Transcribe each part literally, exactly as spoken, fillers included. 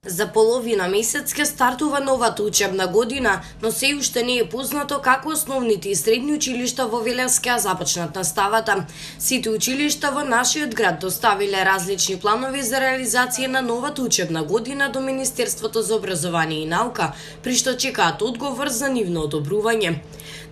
За половина месец ќе стартува новата учебна година, но се уште не е познато како основните и средни училишта во Велес ќе започнат наставата. Сите училишта во нашиот град доставиле различни планови за реализација на новата учебна година до Министерството за образование и наука, при што чекаат одговор за нивно одобрување.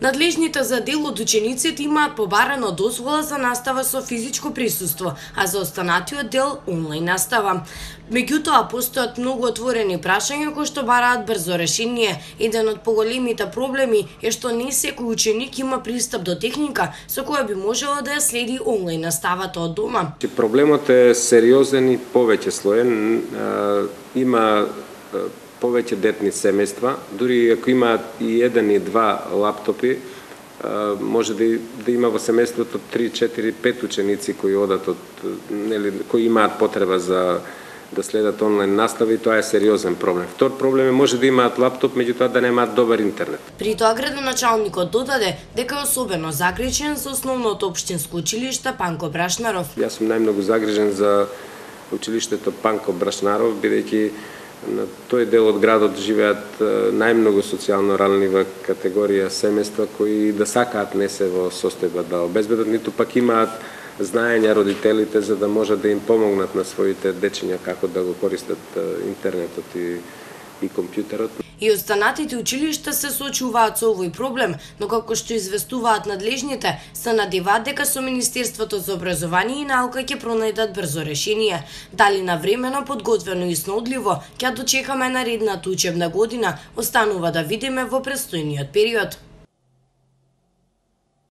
Надлежните за дел од учениците имаат побарано дозвола за настава со физичко присуство, а за останатиот дел онлайн настава. Меѓутоа, постојат многу отворени прашања кои што бараат брзо решение. Еден од поголемите проблеми е што не секој ученик има пристап до техника со која би можело да ја следи онлайн наставата од дома. Проблемот е сериозен и повеќе слоен. Има повеќе детни семејства, дури ако имаат и еден и два лаптопи, може да, да има во семејството три, четири, пет ученици кои одат од, нели, кои имаат потреба за да следат онлайн настава и тоа е сериозен проблем. Втор проблем е може да имаат лаптоп, меѓутоа да немаат добар интернет. При тоа градоначалникот додаде дека е особено загрижен за основното општинско училиште Панко Брашнаров. Јас сум најмногу загрижен за училиштето Панко Брашнаров, бидејќи на тој дел од градот живеат најмногу социјално ранлива категорија семејства кои да сакаат не се во состојба да обезбедат, ниту пак имаат знаење родителите за да можат да им помогнат на своите дечиња како да го користат интернетот и, и компјутерот. И останатите училишта се соочуваат со овој проблем, но како што известуваат надлежните, се надеваат дека со Министерството за образование и наука ќе пронајдат брзо решение. Дали навремено, подготвено и сноодливо ќе дочекаме наредната учебна година, останува да видиме во престојниот период.